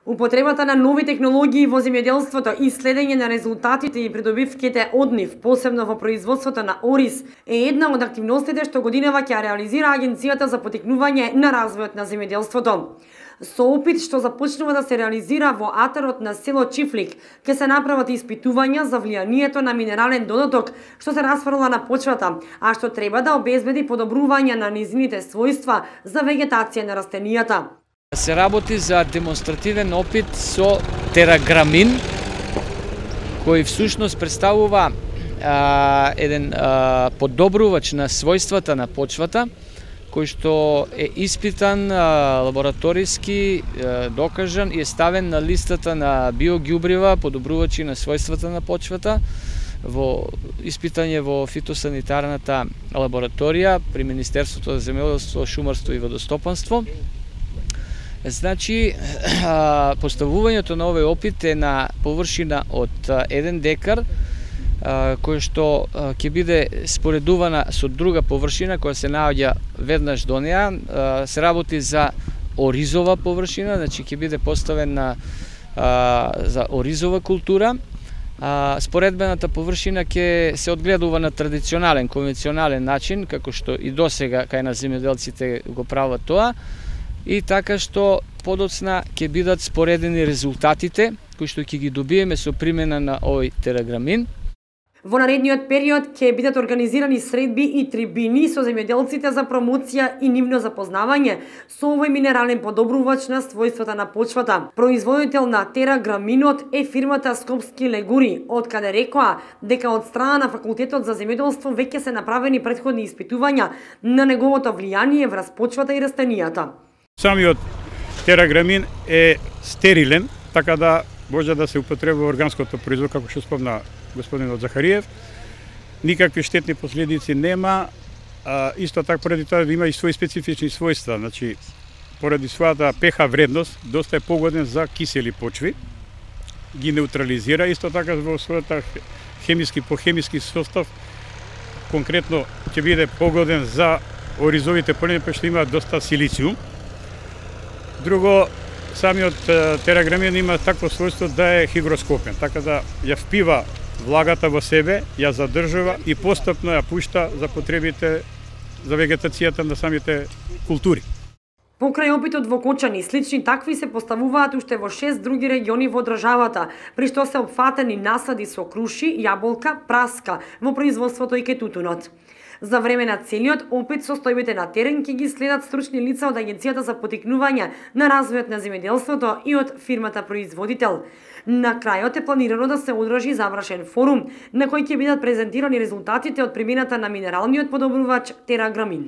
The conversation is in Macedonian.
Употребата на нови технологии во земјоделството и следење на резултатите и придобивките од нив, посебно во производството на ориз, е една од активностите што годинава ќе реализира Агенцијата за поттикнување на развојот на земјоделството. Со опит што започнува да се реализира во атарот на село Чифлик, ќе се направат испитувања за влијанието на минерален додаток што се расфрла на почвата, а што треба да обезбеди подобрување на низините својства за вегетација на растенијата. Се работи за демонстративен опит со тераграмин, кој всушност представува еден подобрувач на својствата на почвата, кој што е испитан лабораториски, докажан и е ставен на листата на биоѓубрива, подобрувачи на својствата на почвата, во испитање во фитосанитарната лабораторија при Министерството за земјоделство, шумарство и водостопанство. Значи, поставувањето на овој опит е на површина од 1 декар, кој што ќе биде споредувана со друга површина која се наоѓа веднаш до неа. Се работи за оризова површина, значи ќе биде поставена за оризова култура. Споредбената површина ќе се одгледува на традиционален, конвенционален начин, како што и досега кај на земјоделците го прават тоа, и така што подоцна ќе бидат споредени резултатите кои што ќе ги добиеме со примена на овој тераграмин. Во наредниот период ќе бидат организирани средби и трибини со земјоделците за промоција и нивно запознавање со овој минерален подобрувач на својствата на почвата. Производител на тераграминот е фирмата Скопски легури, од каде рекоа дека од страна на Факултетот за земјоделство веќе се направени претходни испитувања на неговото влијание врз почвата и растенијата. Самиот тераграмин е стерилен, така да може да се употребува органското производство, како што спомна господинот Захариев. Никакви штетни последици нема, исто така поради тоа има и своји специфични својства, значи поради својата pH вредност доста е погоден за кисели почви, ги неутрализира, исто така во својата хемиски состав, конкретно ќе биде погоден за оризовите полени, што имаат доста силициум. Друго, самиот тераграмин има такво својство да е хигроскопен, така да ја впива влагата во себе, ја задржува и постапно ја пушта за потребите за вегетацијата на самите култури. Покрај опитот во Кочани, слични такви се поставуваат уште во 6 други региони во државата, при што се опфатени насади со круши, јаболка, праска во производството и кетутунот. За време на целиот опит состојбите на терен ќе ги следат стручни лица од Агенцијата за поттикнување на развојот на земјоделството и од фирмата производител. На крајот е планирано да се одржи завршен форум на кој ќе бидат презентирани резултатите од примената на минералниот подобрувач тераграмин.